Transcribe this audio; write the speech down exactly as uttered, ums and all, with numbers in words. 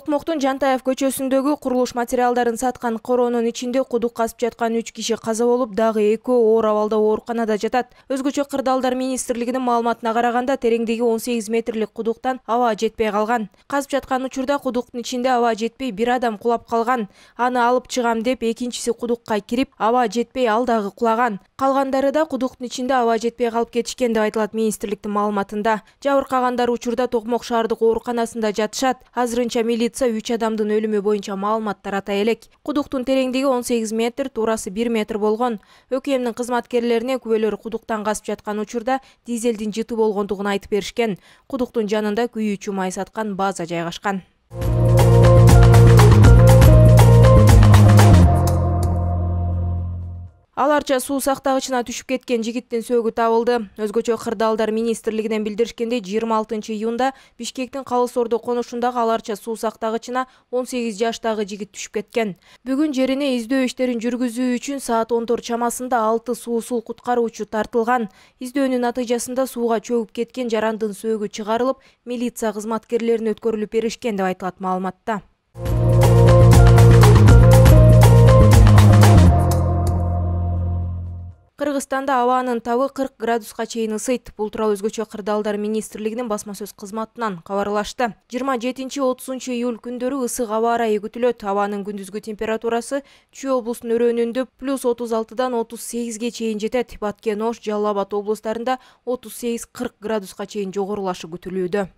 Токмоктун Жантаев көчөсүндөгү курулуш материалдарын саткан коронун ичинде кудук казып жаткан үч киши каза болуп, дагы экөө оор абалда ооруканада жатат. Өзгөчө Кырдаалдар министрлигинин маалыматына караганда, тереңдиги он сегиз метрлик кудуктан аба жетпей калган. Казып жаткан учурда кудуктун ичинде аба жетпей бир адам кулап калган. Аны алып чыгам деп экинчиси кудукка кирип, аба жетпей ал дагы кулаган. Калгандары да кудуктун ичинде аба жетпей калып кетишкен деп айтылат министрликтин маалыматында. Жабыркагандар учурда Токмок шаардык ооруканасында жатышат. Азырынча милиция үч адамдын өлүмү боюнча маалымат тарата элек. Кудуктун тереңдиги он сегиз метр, туурасы бир метр болгон. ӨКМдин кызматкерлерине күбөлөр кудуктан казып жаткан учурда дизелдин жыты болгондугун айтып беришкен. Кудуктун жанында күйүүчү май саткан база жайгашкан. Аларча суу сактагычына түшүп кеткен жигиттин сөөгү табылды. Өзгөчө Кырдаалдар министрлигинен билдиришкендей, жыйырма алтынчы июнда Бишкектин Калыс Ордо конушундагы аларча суу сактагычына он сегиз жаштагы жигит түшүп кеткен. Бүгүн жерине издөө иштерин жүргүзүү үчүн саат он төрт чамасында алты суусул куткаруучу тартылган. Издөөнүн натыйжасында сууга чөгүп кеткен жарандын сөөгү чыгарылып, милиция кызматкерлерине өткөрүлүп беришкен деп айтылат маалыматта. Кыргызстанда абанын табы кырк градуска чейин ысыйт. Бул тууралуу өзгөчө Кырдаалдар министрлигинин басма сөз кызматынан кабарлашты. жыйырма жетинчи отузунчу июль күндөрү ысык аба ырайы күтүлөт. Абанын күндүзгү температурасы Чүй облусунун өрөөнүндө плюс отуз алтыдан отуз сегизге чейин жетет. Баткен, Ош, Жалал Абад облустарында отуз сегиз кырк градуска чейин жогорулашы күтүлүүдө.